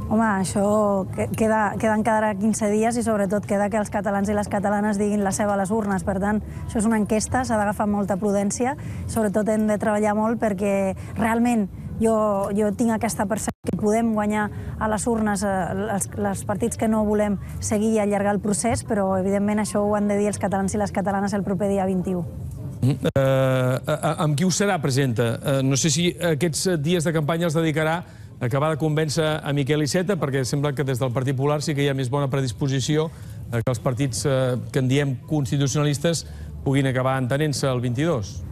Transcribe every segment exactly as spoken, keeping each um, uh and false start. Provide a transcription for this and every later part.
Home, això queda, queden cada quinze dies i sobretot queda que els catalans i les catalanes diguin la seva a les urnes. Per tant, això és una enquesta, s'ha d'agafar molta prudència. Sobretot hem de treballar molt perquè realment jo, jo tinc aquesta percepció que podem guanyar a les urnes els, els partits que no volem seguir i allargar el procés, però evidentment això ho han de dir els catalans i les catalanes el proper dia vint-i-u. Uh, amb qui ho serà, presidenta? Uh, no sé si aquests dies de campanya els dedicarà a acabar de convèncer a Miquel Iceta, perquè sembla que des del Partit Popular sí que hi ha més bona predisposició que els partits que en diem constitucionalistes puguin acabar entenent-se el vint-i-dos.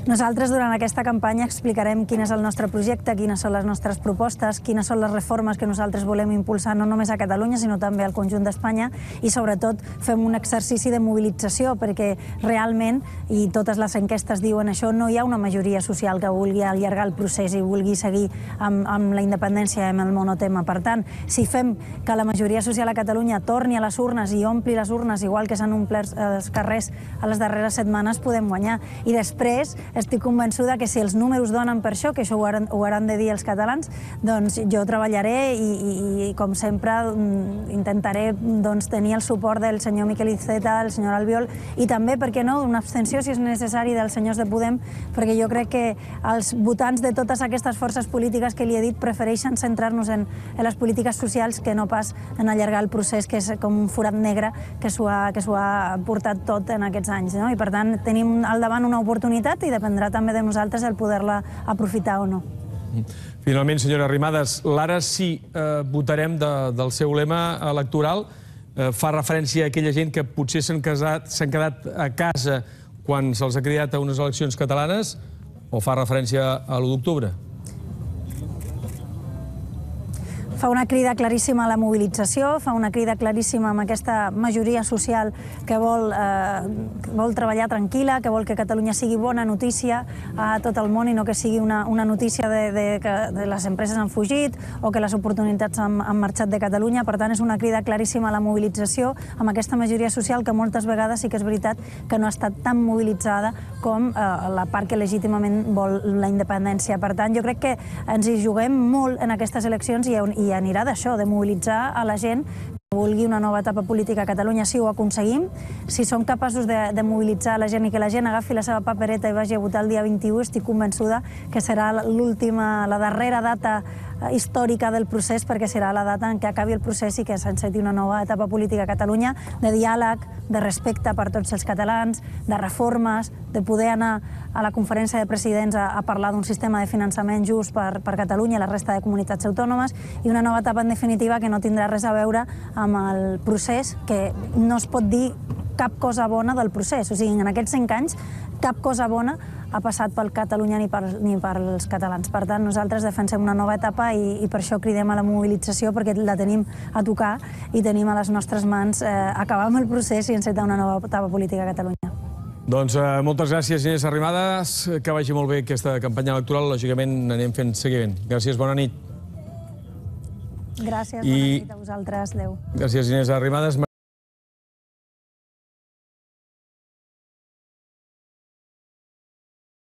Nosaltres durant aquesta campanya explicarem quin és el nostre projecte, quines són les nostres propostes, quines són les reformes que nosaltres volem impulsar no només a Catalunya sinó també al conjunt d'Espanya i sobretot fem un exercici de mobilització perquè realment, i totes les enquestes diuen això, no hi ha una majoria social que vulgui allargar el procés i vulgui seguir amb, amb la independència i amb el monotema. Per tant, si fem que la majoria social a Catalunya torni a les urnes i ompli les urnes igual que s'han omplert els carrers a les darreres setmanes, podem guanyar. I després estic convençuda que si els números donen per això, que això ho hauran, ho hauran de dir els catalans, doncs jo treballaré i, i, i com sempre, intentaré doncs, tenir el suport del senyor Miquel Iceta, del senyor Albiol, i també, per què no, una abstenció, si és necessari, dels senyors de Podem, perquè jo crec que els votants de totes aquestes forces polítiques que li he dit prefereixen centrar-nos en, en les polítiques socials que no pas en allargar el procés, que és com un forat negre que s'ho ha, que s'ho ha portat tot en aquests anys. No? I per tant, tenim al davant una oportunitat i dependrà també de nosaltres el poder-la aprofitar o no. Finalment, senyora Arrimadas, l'ara sí eh, votarem de, del seu lema electoral. Eh, fa referència a aquella gent que potser s'han quedat a casa quan se'ls ha cridat a unes eleccions catalanes o fa referència a l'u d'octubre? Fa una crida claríssima a la mobilització, fa una crida claríssima amb aquesta majoria social que vol, eh, vol treballar tranquil·la, que vol que Catalunya sigui bona notícia a tot el món i no que sigui una, una notícia de, de que de les empreses han fugit o que les oportunitats han, han marxat de Catalunya. Per tant, és una crida claríssima a la mobilització amb aquesta majoria social que moltes vegades sí que és veritat que no ha estat tan mobilitzada com eh, la part que legítimament vol la independència. Per tant, jo crec que ens hi juguem molt en aquestes eleccions i, i anirà d'això, de mobilitzar a la gent que vulgui una nova etapa política a Catalunya. Si ho aconseguim, si som capaços de, de mobilitzar la gent i que la gent agafi la seva papereta i vagi a votar el dia vint-i-u, estic convençuda que serà l'última, la darrera data històrica del procés, perquè serà la data en què acabi el procés i que s'enceti una nova etapa política a Catalunya, de diàleg, de respecte per tots els catalans, de reformes, de poder anar a la conferència de presidents a, a parlar d'un sistema de finançament just per, per Catalunya i la resta de comunitats autònomes, i una nova etapa en definitiva que no tindrà res a veure amb el procés, que no es pot dir cap cosa bona del procés. O sigui, en aquests cinc anys cap cosa bona ha passat pel Catalunya ni, per, ni pels catalans. Per tant, nosaltres defensem una nova etapa i, i per això cridem a la mobilització, perquè la tenim a tocar i tenim a les nostres mans eh, acabar amb el procés i encetar una nova etapa política a Catalunya. Doncs eh, moltes gràcies, Inés Arrimadas. Que vagi molt bé aquesta campanya electoral. Lògicament anem fent seguiment. Gràcies, bona nit. Gràcies, bona nit a vosaltres. Adéu. Gràcies, Inés Arrimadas.